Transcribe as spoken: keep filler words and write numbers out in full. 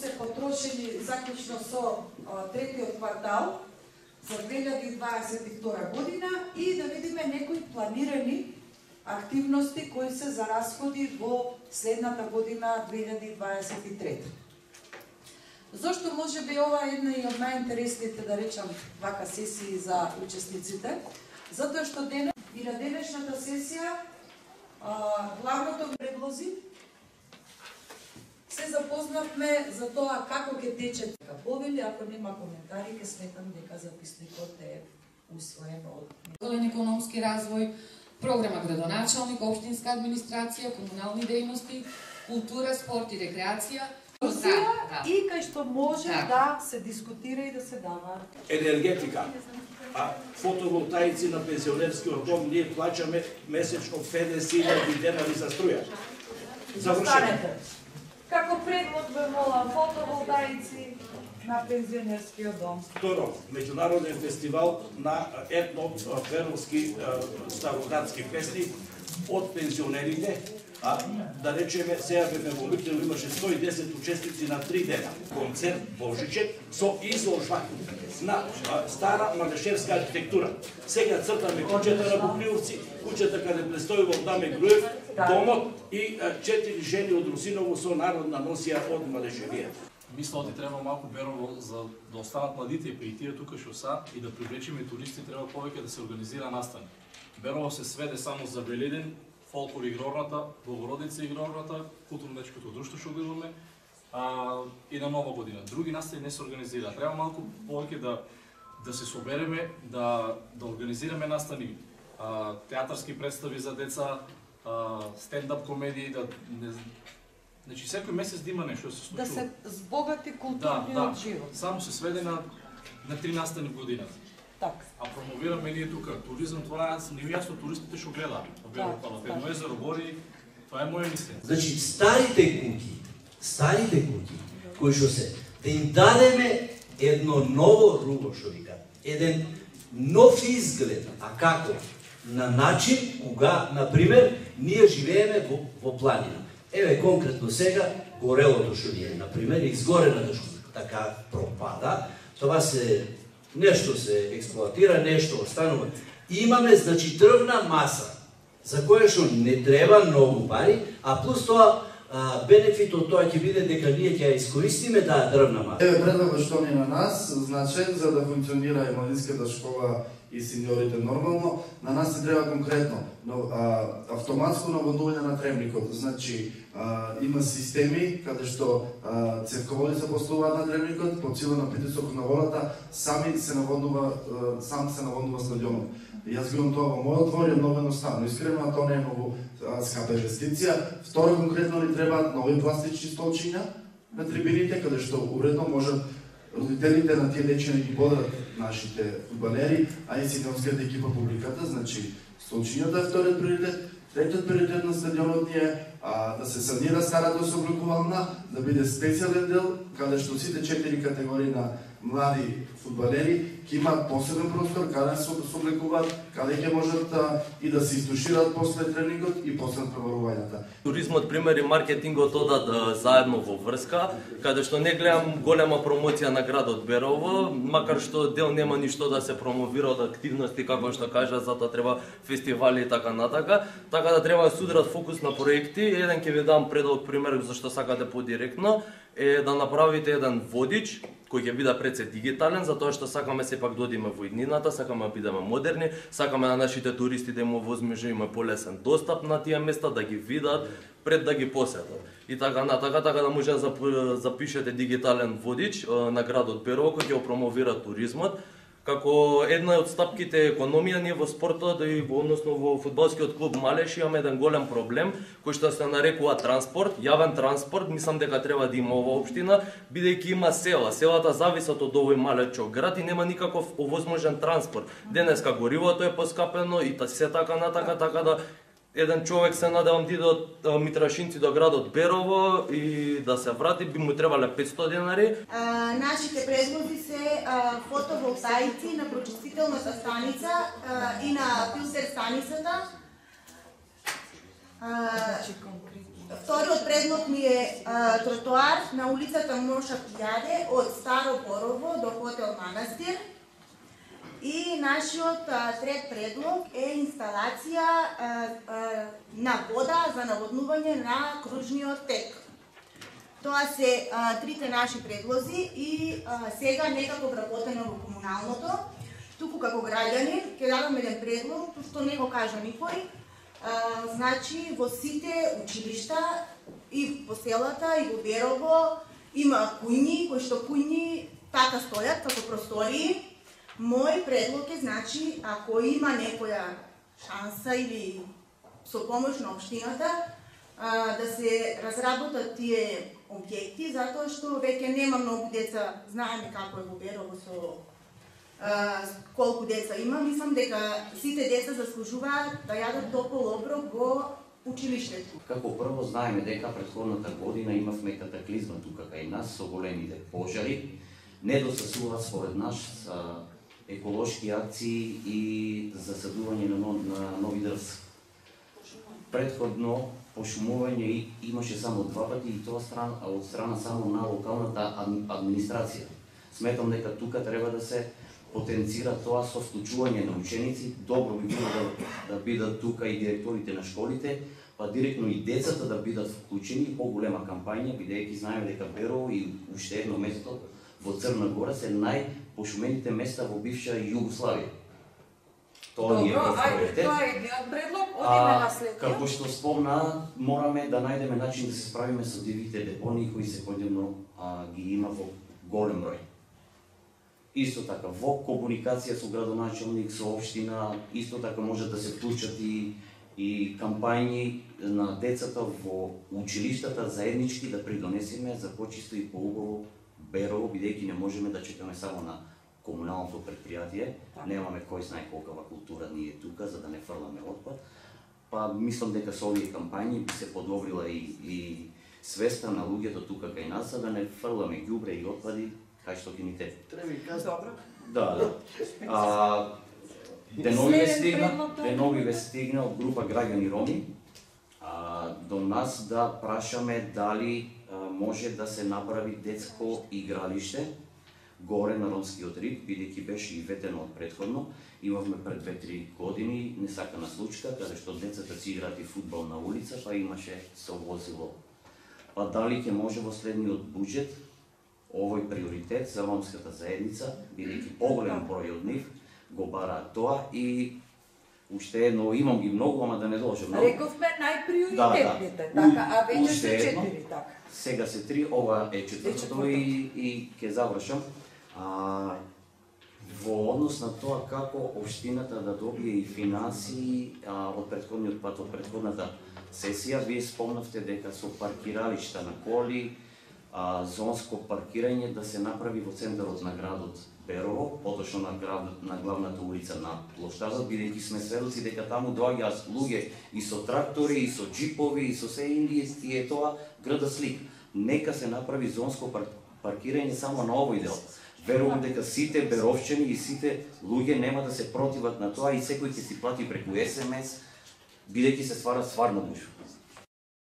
се потрошени заклучно со третиот квартал за две илјади дваесет и втора година и да видиме некои планирани активности кои се за расходи во следната година две илјади дваесет и трета. Зошто може би ова е една и од најинтересните, да речам, вака сесии за учесниците? Затоа што денес и на денешната сесија главното предлози се запознавме за тоа како ќе тече повели, ако нема коментари, ќе сметам дека записникот е усвоен од Зелен економски развој, програма градоначалник, општинска администрација, комунални дејности, култура, спорт и рекреација. Да, да. И кај што може да. да се дискутира и да се дава. Енергетика. А фотоволтаици на пензионерскиот дом ние плаќаме месечно педесет илјади денари за струја. Застанете. Како предлог бе мола фотоволтаици на пензионерскиот дом. Второ, меѓународен фестивал на етно-феровски староградски песни од пензионерите. А, да речеме, сега бе во Микнево имаше сто и десет учесници на три дена. Концерт Божичек со изложба на а, стара малешевска архитектура. Сега цртаме куќата на Букливци, куќата каде престојува Даме Груев, домот и а, четири жени од Русиново со народна носија од Малешевија. Мисля, оти треба малку Берово за да останат младите и при тие тука што са и да привлечеме туристи, треба повеќе да се организира настани. Берово се сведе само за Велиден, фолклор игрорната, Богородица игрорната, културно-дечкото друштво што гледаме, а, и на Нова година. Други настани не се организира. Треба малку повеќе да да се собереме, да да организираме настани, а, театарски представи за деца, а, стендап комедии, да не, значи секој месец да има нешто да се случува. Да се збогати културниот да, да. живот. Само се сведе на на три настани годината. Так. А промовираме ние тука туризам, това не е јасно туристите што гледаат. Едно езеро гори, това е моја мислење. Значи старите куќи, старите куќи кои што се да им дадеме едно ново руго што вика, еден нов изглед, а како? На начин кога, на пример, ние живееме во, во планина. Еве конкретно сега горелото што ни е, на пример, изгорената што така пропада, тоа се нешто се експлоатира, нешто останува. Имаме, значи, дрвна маса, за која што не треба многу пари, а плюс тоа, а, бенефит од тоа ќе биде дека ние ќе ја искористиме таа дрвна маса. Еве предлогот што ни на нас, значен за да функционира и младинската школа и сеньорите нормално, на нас се треба конкретно но, а, автоматско наводнување на требникот. Значи, а, има системи каде што а, цевководи се поставуваат на требникот, по сила на притисок на водата, сами се наводнува, а, сам се наводнува стадионот. Јас го имам тоа во мојот двор, е многу едноставно. Искрено, тоа не е многу скапа инвестиција. Второ, конкретно ни требаат нови пластични столчиња на трибините, каде што уредно можат родителите на тие дечи да ги бодрат нашите фудбалери, а и синонската екипа публиката. Значи, столчињата е вториот приоритет. Третиот приоритет на стадионот ни е а, да се санира старата собликувална, да биде специјален дел, каде што сите четири категории на млади фудбалери ќе имаат посебен простор, каде се собликуваат, каде ќе можат а, и да се истушираат после тренингот и после преборувањата. Туризмот, пример и маркетингот одат а, заедно во врска, каде што не гледам голема промоција на градот Берово, макар што дел нема ништо да се промовира од активности, како што кажа, затоа треба фестивали и така натака, така да треба да судрат фокус на проекти. Еден ќе ви дам предлог пример зашто сакате подиректно, е да направите еден водич кој ќе биде пред се дигитален, затоа што сакаме сепак да одиме во иднината, сакаме да бидеме модерни, сакаме на нашите туристи да имаме возможност, има полесен достап на тие места, да ги видат пред да ги посетат. И така натака, така да може да запишете дигитален водич на градот Берово кој ќе промовира туризмот. Како една од стапките економија, ние во спортот и во односно во фудбалскиот клуб Малеш имаме еден голем проблем кој што се нарекува транспорт, јавен транспорт. Мислам дека треба да има ова општина, бидејќи има села. Селата зависат од овој малечок град и нема никаков овозможен транспорт. Денеска горивото е поскапено и се така натака, така да еден човек се надевам ти до Митрашинци до градот Берово и да се врати, би му требале петстотини денари. А, нашите предлози се а, фотоволтаици на прочистителната станица а, и на филтер станицата. А, Вториот предлог ми е а, тротоар на улицата Моша Куѓаде од Старо Борово до Хотел Манастир. И нашиот а, трет предлог е инсталација а, а, на вода за наводнување на кружниот тек. Тоа се а, трите наши предлози и а, сега некако вработено во комуналното. Туку како граѓанин ќе дадам еден предлог, што не го кажа никој. А, значи во сите училишта и по селата и во Берово има кујни, кои што кујни така стојат како простории. Мој предлог е, значи, ако има некоја шанса или со помош на општината, а, да се разработат тие објекти, затоа што веќе нема многу деца, знаеме како е во Берово со а, колку деца има, мислам дека сите деца заслужуваат да јадат топол оброк во училиштето. Како прво знаеме дека претходната година имавме катаклизма тука кај нас со големите пожари. Недостасуваат според нас еколошки акции и засадување на, на нови дрвца. Предходно пошумување имаше само два пати и тоа страна, од страна само на локалната администрација. Сметам дека тука треба да се потенцира тоа со вклучување на ученици. Добро би било да, да бидат тука и директорите на школите, па директно и децата да бидат вклучени, поголема кампања, бидејќи знаеме дека Берово и уште едно место во Црна Гора се најпошумените места во бивша Југославија. Тоа ни е приоритет. Тоа е едниот предлог, одиме на следниот. Како што спомна, мораме да најдеме начин да се справиме со дивите депонии кои секојдневно ги има во голем број. Исто така во комуникација со градоначелник, со општина, исто така може да се вклучат и и кампањи на децата во училиштата заеднички да придонесеме за почисто и поубаво Берово, бидејќи не можеме да чекаме само на комуналното предпријатие, немаме кој знае колкава култура ние тука за да не фрламе отпад. Па мислам дека со овие кампањи би се подобрила и, и свеста на луѓето тука кај нас за да не фрламе ѓубре и отпади кај што ќе ни те. Добро. Да, да. А, денови ве стигна, денови ве стигна од група граѓани роми а, до нас да прашаме дали може да се направи детско игралиште горе на ромскиот рид, бидејќи беше и ветено од предходно. Имавме пред две-три години несакана случка, каде што децата си играат и фудбал на улица, па имаше со возило. Па дали ќе може во следниот буџет овој приоритет за ромската заедница, бидејќи поголем број од нив го бараат тоа и уште едно, имам ги многу, ама да не должам. Рековме најприоритетните, да, да. Така, а веќе се четири, така. Сега се три, ова е четвртото и, и ќе завршам. А, во однос на тоа како општината да добие и финансии а, од претходниот пат, од претходната сесија, вие спомнавте дека со паркиралишта на коли, а, зонско паркирање да се направи во центарот на градот Берово, поточно на, град, на главната улица на плоштадот, бидејќи сме сведоци дека таму доаѓаат луѓе и со трактори, и со џипови, и со се индијски, е тоа града слик. Нека се направи зонско пар, паркирање само на овој дел. Верувам дека сите беровчани и сите луѓе нема да се противат на тоа и секој ќе си плати преку ес ем ес, бидејќи се ствара стварна гушва.